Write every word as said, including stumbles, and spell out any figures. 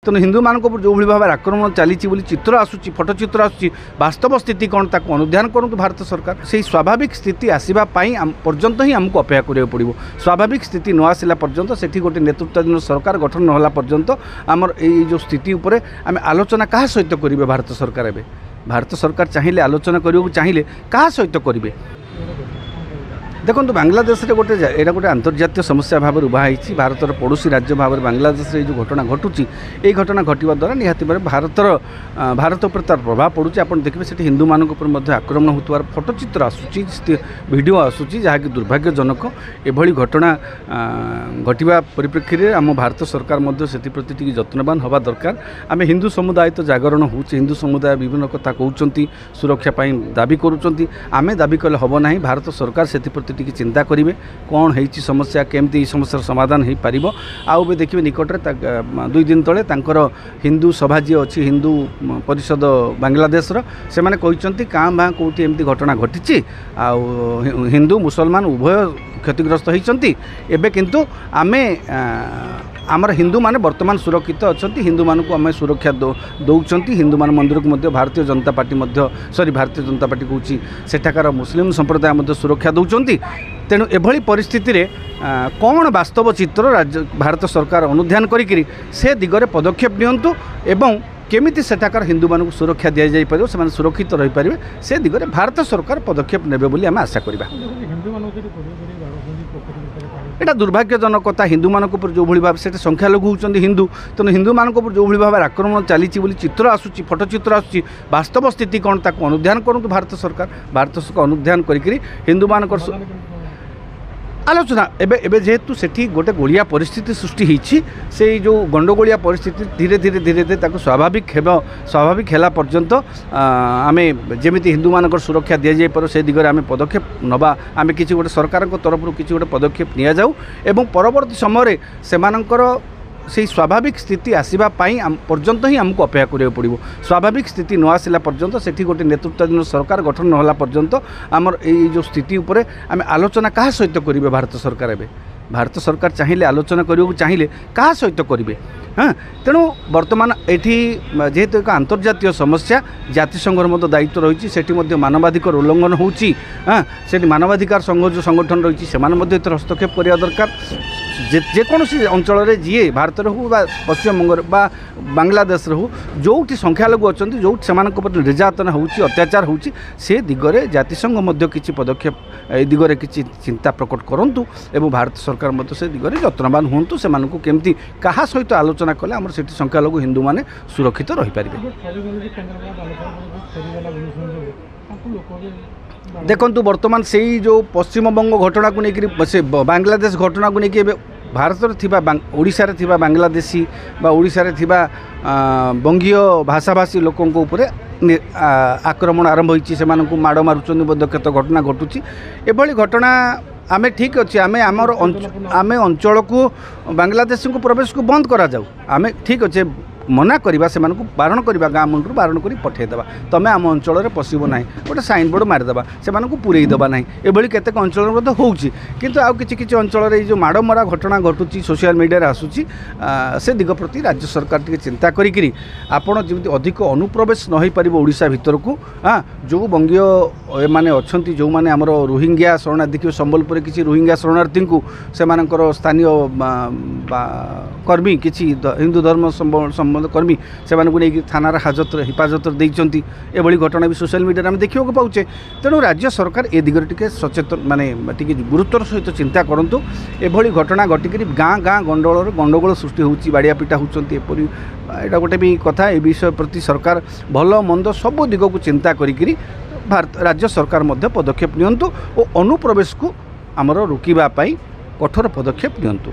ତେଣୁ ହିନ୍ଦୁମାନଙ୍କ ଉପରେ ଯେଉଁଭଳି ଭାବରେ ଆକ୍ରମଣ ଚାଲିଛି ବୋଲି ଚିତ୍ର ଆସୁଛି, ଫଟୋଚିତ୍ର ଆସୁଛି, ବାସ୍ତବ ସ୍ଥିତି କ'ଣ ତାକୁ ଅନୁଧ୍ୟାନ କରନ୍ତୁ ଭାରତ ସରକାର। ସେଇ ସ୍ୱାଭାବିକ ସ୍ଥିତି ଆସିବା ପାଇଁ ପର୍ଯ୍ୟନ୍ତ ହିଁ ଆମକୁ ଅପେକ୍ଷା କରିବାକୁ ପଡ଼ିବ। ସ୍ୱାଭାବିକ ସ୍ଥିତି ନ ଆସିଲା ପର୍ଯ୍ୟନ୍ତ, ସେଠି ଗୋଟେ ନେତୃତ୍ୱାଧୀନ ସରକାର ଗଠନ ନ ହେଲା ପର୍ଯ୍ୟନ୍ତ ଆମର ଏଇ ଯେଉଁ ସ୍ଥିତି ଉପରେ ଆମେ ଆଲୋଚନା କାହା ସହିତ କରିବେ? ଭାରତ ସରକାର ଏବେ ଭାରତ ସରକାର ଚାହିଁଲେ, ଆଲୋଚନା କରିବାକୁ ଚାହିଁଲେ କାହା ସହିତ କରିବେ? ଦେଖନ୍ତୁ, ବାଂଲାଦେଶରେ ଗୋଟେ ଏଇଟା ଗୋଟେ ଆନ୍ତର୍ଜାତୀୟ ସମସ୍ୟା ଭାବରେ ଉଭା ହେଇଛି। ଭାରତର ପଡ଼ୋଶୀ ରାଜ୍ୟ ଭାବରେ ବାଂଲାଦେଶରେ ଏଇ ଯେଉଁ ଘଟଣା ଘଟୁଛି, ଏଇ ଘଟଣା ଘଟିବା ଦ୍ୱାରା ନିହାତି ଭାବରେ ଭାରତର ଭାରତ ଉପରେ ତା'ର ପ୍ରଭାବ ପଡ଼ୁଛି। ଆପଣ ଦେଖିବେ, ସେଠି ହିନ୍ଦୁମାନଙ୍କ ଉପରେ ମଧ୍ୟ ଆକ୍ରମଣ ହେଉଥିବାର ଫଟୋଚିତ୍ର ଆସୁଛି, ଭିଡ଼ିଓ ଆସୁଛି, ଯାହାକି ଦୁର୍ଭାଗ୍ୟଜନକ। ଏଭଳି ଘଟଣା ଘଟିବା ପରିପ୍ରେକ୍ଷୀରେ ଆମ ଭାରତ ସରକାର ମଧ୍ୟ ସେଥିପ୍ରତି ଟିକେ ଯତ୍ନବାନ ହେବା ଦରକାର। ଆମେ ହିନ୍ଦୁ ସମୁଦାୟ ତ ଜାଗରଣ ହେଉଛି, ହିନ୍ଦୁ ସମୁଦାୟ ବିଭିନ୍ନ କଥା କହୁଛନ୍ତି, ସୁରକ୍ଷା ପାଇଁ ଦାବି କରୁଛନ୍ତି। ଆମେ ଦାବି କଲେ ହେବ ନାହିଁ, ଭାରତ ସରକାର ସେଥିପ୍ରତି ଟିକେ ଚିନ୍ତା କରିବେ, କ'ଣ ହେଇଛି ସମସ୍ୟା, କେମିତି ଏଇ ସମସ୍ୟାର ସମାଧାନ ହେଇପାରିବ। ଆଉ ଏବେ ଦେଖିବେ, ନିକଟରେ ଦୁଇ ଦିନ ତଳେ ତାଙ୍କର ହିନ୍ଦୁ ସଭା ଯିଏ ଅଛି, ହିନ୍ଦୁ ପରିଷଦ ବାଂଲାଦେଶର, ସେମାନେ କହିଛନ୍ତି କାଁ ଭାଁ କେଉଁଠି ଏମିତି ଘଟଣା ଘଟିଛି ଆଉ ହିନ୍ଦୁ ମୁସଲମାନ ଉଭୟ କ୍ଷତିଗ୍ରସ୍ତ ହୋଇଛନ୍ତି। ଏବେ କିନ୍ତୁ ଆମେ ଆମର ହିନ୍ଦୁମାନେ ବର୍ତ୍ତମାନ ସୁରକ୍ଷିତ ଅଛନ୍ତି, ହିନ୍ଦୁମାନଙ୍କୁ ଆମେ ସୁରକ୍ଷା ଦେଉଛନ୍ତି, ହିନ୍ଦୁମାନ ମନ୍ଦିରକୁ ମଧ୍ୟ ଭାରତୀୟ ଜନତା ପାର୍ଟି ମଧ୍ୟ, ସରି, ଭାରତୀୟ ଜନତା ପାର୍ଟି କହୁଛି, ସେଠାକାର ମୁସଲିମ ସମ୍ପ୍ରଦାୟ ମଧ୍ୟ ସୁରକ୍ଷା ଦେଉଛନ୍ତି। ତେଣୁ ଏଭଳି ପରିସ୍ଥିତିରେ କ'ଣ ବାସ୍ତବ ଚିତ୍ର ରାଜ୍ୟ ଭାରତ ସରକାର ଅନୁଧ୍ୟାନ କରିକିରି ସେ ଦିଗରେ ପଦକ୍ଷେପ ନିଅନ୍ତୁ ଏବଂ କେମିତି ସେଠାକାର ହିନ୍ଦୁମାନଙ୍କୁ ସୁରକ୍ଷା ଦିଆଯାଇପାରିବ, ସେମାନେ ସୁରକ୍ଷିତ ରହିପାରିବେ, ସେ ଦିଗରେ ଭାରତ ସରକାର ପଦକ୍ଷେପ ନେବେ ବୋଲି ଆମେ ଆଶା କରିବା। ଏଇଟା ଦୁର୍ଭାଗ୍ୟଜନକ କଥା। ହିନ୍ଦୁମାନଙ୍କ ଉପରେ ଯେଉଁଭଳି ଭାବେ, ସେଠି ସଂଖ୍ୟାଲଘୁ ହେଉଛନ୍ତି ହିନ୍ଦୁ, ତେଣୁ ହିନ୍ଦୁମାନଙ୍କ ଉପରେ ଯେଉଁଭଳି ଭାବରେ ଆକ୍ରମଣ ଚାଲିଛି ବୋଲି ଚିତ୍ର ଆସୁଛି, ଫଟୋଚିତ୍ର ଆସୁଛି, ବାସ୍ତବ ସ୍ଥିତି କ'ଣ ତାକୁ ଅନୁଧ୍ୟାନ କରନ୍ତୁ ଭାରତ ସରକାର। ଭାରତ ସରକାର ଅନୁଧ୍ୟାନ କରିକିରି ହିନ୍ଦୁମାନଙ୍କର ଆଲୋଚନା ଏବେ ଏବେ ଯେହେତୁ ସେଠି ଗୋଟେ ଗୋଳିଆ ପରିସ୍ଥିତି ସୃଷ୍ଟି ହେଇଛି, ସେଇ ଯେଉଁ ଗଣ୍ଡଗୋଳିଆ ପରିସ୍ଥିତି ଧୀରେ ଧୀରେ ଧୀରେ ଧୀରେ ତାକୁ ସ୍ୱାଭାବିକ ହେବ, ସ୍ୱାଭାବିକ ହେଲା ପର୍ଯ୍ୟନ୍ତ ଆମେ ଯେମିତି ହିନ୍ଦୁମାନଙ୍କର ସୁରକ୍ଷା ଦିଆଯାଇପାରିବ ସେ ଦିଗରେ ଆମେ ପଦକ୍ଷେପ ନେବା। ଆମେ କିଛି ଗୋଟେ ସରକାରଙ୍କ ତରଫରୁ କିଛି ଗୋଟେ ପଦକ୍ଷେପ ନିଆଯାଉ ଏବଂ ପରବର୍ତ୍ତୀ ସମୟରେ ସେମାନଙ୍କର ସେଇ ସ୍ୱାଭାବିକ ସ୍ଥିତି ଆସିବା ପାଇଁ ପର୍ଯ୍ୟନ୍ତ ହିଁ ଆମକୁ ଅପେକ୍ଷା କରିବାକୁ ପଡ଼ିବ। ସ୍ୱାଭାବିକ ସ୍ଥିତି ନ ଆସିଲା ପର୍ଯ୍ୟନ୍ତ, ସେଠି ଗୋଟେ ନେତୃତ୍ୱାଧୀନ ସରକାର ଗଠନ ନ ହେଲା ପର୍ଯ୍ୟନ୍ତ ଆମର ଏଇ ଯେଉଁ ସ୍ଥିତି ଉପରେ ଆମେ ଆଲୋଚନା କାହା ସହିତ କରିବେ? ଭାରତ ସରକାର ଏବେ ଭାରତ ସରକାର ଚାହିଁଲେ, ଆଲୋଚନା କରିବାକୁ ଚାହିଁଲେ କାହା ସହିତ କରିବେ? ହଁ, ତେଣୁ ବର୍ତ୍ତମାନ ଏଠି ଯେହେତୁ ଏକ ଆନ୍ତର୍ଜାତୀୟ ସମସ୍ୟା, ଜାତିସଂଘର ମଧ୍ୟ ଦାୟିତ୍ୱ ରହିଛି। ସେଠି ମଧ୍ୟ ମାନବାଧିକାର ଉଲ୍ଲଙ୍ଘନ ହେଉଛି। ହଁ, ସେଠି ମାନବାଧିକାର ସଂଘ ଯେଉଁ ସଂଗଠନ ରହିଛି, ସେମାନେ ମଧ୍ୟ ଏଥିରେ ହସ୍ତକ୍ଷେପ କରିବା ଦରକାର। ଯେକୌଣସି ଅଞ୍ଚଳରେ ଯିଏ ଭାରତରେ ହେଉ ବା ପଶ୍ଚିମବଙ୍ଗରେ ବା ବାଂଲାଦେଶରେ ହେଉ, ଯେଉଁଠି ସଂଖ୍ୟାଲଘୁ ଅଛନ୍ତି, ଯେଉଁଠି ସେମାନଙ୍କ ପ୍ରତି ନିର୍ଯାତନା ହେଉଛି, ଅତ୍ୟାଚାର ହେଉଛି, ସେ ଦିଗରେ ଜାତିସଂଘ ମଧ୍ୟ କିଛି ପଦକ୍ଷେପ, ଏ ଦିଗରେ କିଛି ଚିନ୍ତା ପ୍ରକଟ କରନ୍ତୁ ଏବଂ ଭାରତ ସରକାର ମଧ୍ୟ ସେ ଦିଗରେ ଯତ୍ନବାନ ହୁଅନ୍ତୁ, ସେମାନଙ୍କୁ କେମିତି କାହା ସହିତ ଆଲୋଚନା କଲେ ଆମର ସେଠି ସଂଖ୍ୟାଲଘୁ ହିନ୍ଦୁମାନେ ସୁରକ୍ଷିତ ରହିପାରିବେ। ଦେଖନ୍ତୁ, ବର୍ତ୍ତମାନ ସେଇ ଯେଉଁ ପଶ୍ଚିମବଙ୍ଗ ଘଟଣାକୁ ନେଇକରି, ସେ ବାଂଲାଦେଶ ଘଟଣାକୁ ନେଇକି ଏବେ ଭାରତରେ ଥିବା, ଓଡ଼ିଶାରେ ଥିବା ବାଂଲାଦେଶୀ ବା ଓଡ଼ିଶାରେ ଥିବା ବଙ୍ଗୀୟ ଭାଷାଭାଷୀ ଲୋକଙ୍କ ଉପରେ ଆକ୍ରମଣ ଆରମ୍ଭ ହୋଇଛି। ସେମାନଙ୍କୁ ମାଡ଼ ମାରୁଛନ୍ତି ମଧ୍ୟ, କେତେ ଘଟଣା ଘଟୁଛି। ଏଭଳି ଘଟଣା ଆମେ ଠିକ୍ ଅଛି, ଆମେ ଆମର ଆମେ ଅଞ୍ଚଳକୁ ବାଂଲାଦେଶୀଙ୍କୁ ପ୍ରବେଶକୁ ବନ୍ଦ କରାଯାଉ, ଆମେ ଠିକ୍ ଅଛି ମନା କରିବା, ସେମାନଙ୍କୁ ବାରଣ କରିବା, ଗାଁ ମୁଣ୍ଡରୁ ବାରଣ କରି ପଠାଇଦେବା, ତୁମେ ଆମ ଅଞ୍ଚଳରେ ପଶିବ ନାହିଁ, ଗୋଟେ ସାଇନବୋର୍ଡ଼ ମାରିଦେବା, ସେମାନଙ୍କୁ ପୁରେଇ ଦେବା ନାହିଁ। ଏଭଳି କେତେକ ଅଞ୍ଚଳରେ ମଧ୍ୟ ହେଉଛି। କିନ୍ତୁ ଆଉ କିଛି କିଛି ଅଞ୍ଚଳରେ ଏଇ ଯେଉଁ ମାଡ଼ ମରା ଘଟଣା ଘଟୁଛି, ସୋସିଆଲ ମିଡ଼ିଆରେ ଆସୁଛି, ସେ ଦିଗ ପ୍ରତି ରାଜ୍ୟ ସରକାର ଟିକେ ଚିନ୍ତା କରିକିରି ଆପଣ ଯେମିତି ଅଧିକ ଅନୁପ୍ରବେଶ ନ ହୋଇପାରିବ ଓଡ଼ିଶା ଭିତରକୁ। ହଁ, ଯେଉଁ ବଙ୍ଗୀୟ ଏମାନେ ଅଛନ୍ତି, ଯେଉଁମାନେ ଆମର ରୋହିଙ୍ଗ୍ୟା ଶରଣାର୍ଥୀ, ଦେଖିବେ ସମ୍ବଲପୁରରେ କିଛି ରୋହିଙ୍ଗ୍ୟା ଶରଣାର୍ଥୀଙ୍କୁ ସେମାନଙ୍କର ସ୍ଥାନୀୟ କର୍ମୀ, କିଛି ହିନ୍ଦୁ ଧର୍ମ ସମ୍ବନ୍ଧ କର୍ମୀ ସେମାନଙ୍କୁ ନେଇକି ଥାନାର ହାଜତରେ ହିଫାଜତରେ ଦେଇଛନ୍ତି। ଏଭଳି ଘଟଣା ବି ସୋସିଆଲ ମିଡ଼ିଆରେ ଆମେ ଦେଖିବାକୁ ପାଉଛେ। ତେଣୁ ରାଜ୍ୟ ସରକାର ଏ ଦିଗରେ ଟିକେ ସଚେତନ, ମାନେ ଟିକେ ଗୁରୁତ୍ୱର ସହିତ ଚିନ୍ତା କରନ୍ତୁ। ଏଭଳି ଘଟଣା ଘଟିକରି ଗାଁ ଗାଁ ଗଣ୍ଡଗୋଳରେ ଗଣ୍ଡଗୋଳ ସୃଷ୍ଟି ହେଉଛି, ବାଡ଼ିଆ ପିଟା ହେଉଛନ୍ତି, ଏପରି ଏଇଟା ଗୋଟେ ବି କଥା। ଏ ବିଷୟ ପ୍ରତି ସରକାର ଭଲ ମନ୍ଦ ସବୁ ଦିଗକୁ ଚିନ୍ତା କରିକିରି ଭାରତ ରାଜ୍ୟ ସରକାର ମଧ୍ୟ ପଦକ୍ଷେପ ନିଅନ୍ତୁ ଓ ଅନୁପ୍ରବେଶକୁ ଆମର ରୋକିବା ପାଇଁ କଠୋର ପଦକ୍ଷେପ ନିଅନ୍ତୁ।